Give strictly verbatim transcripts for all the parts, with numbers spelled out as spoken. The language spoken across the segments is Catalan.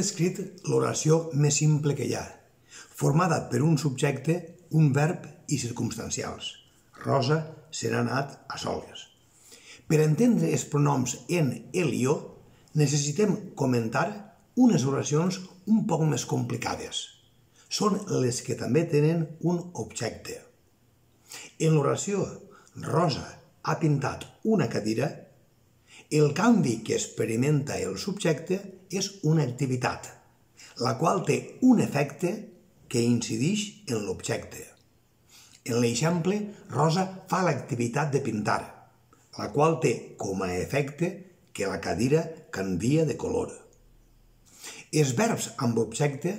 descrit l'oració més simple que hi ha, formada per un subjecte, un verb i circumstancials. Rosa se n'ha anat a soles. Per entendre els pronoms en, el i o, necessitem comentar unes oracions un poc més complicades. Són les que també tenen un objecte. En l'oració Rosa ha pintat una cadira, el canvi que experimenta el subjecte és una activitat, la qual té un efecte que incideix en l'objecte. En l'exemple, Rosa fa l'activitat de pintar, la qual té com a efecte que la cadira canvia de color. Els verbs amb objecte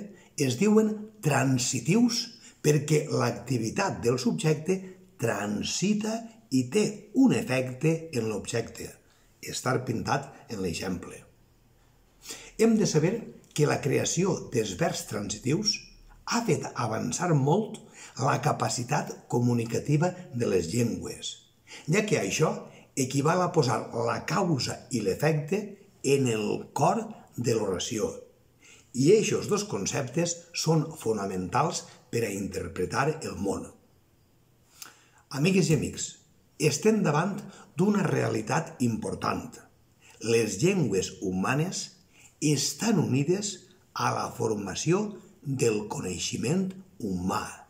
es diuen transitius perquè l'activitat del subjecte transita i té un efecte en l'objecte, estar pintat en l'exemple. Hem de saber que la creació dels verbs transitius ha fet avançar molt la capacitat comunicativa de les llengües, ja que això equival a posar la causa i l'efecte en el cor de l'oració. I aquests dos conceptes són fonamentals per a interpretar el món. Amigues i amics, estem davant d'una realitat important. Les llengües humanes estan unides a la formació del coneixement humà.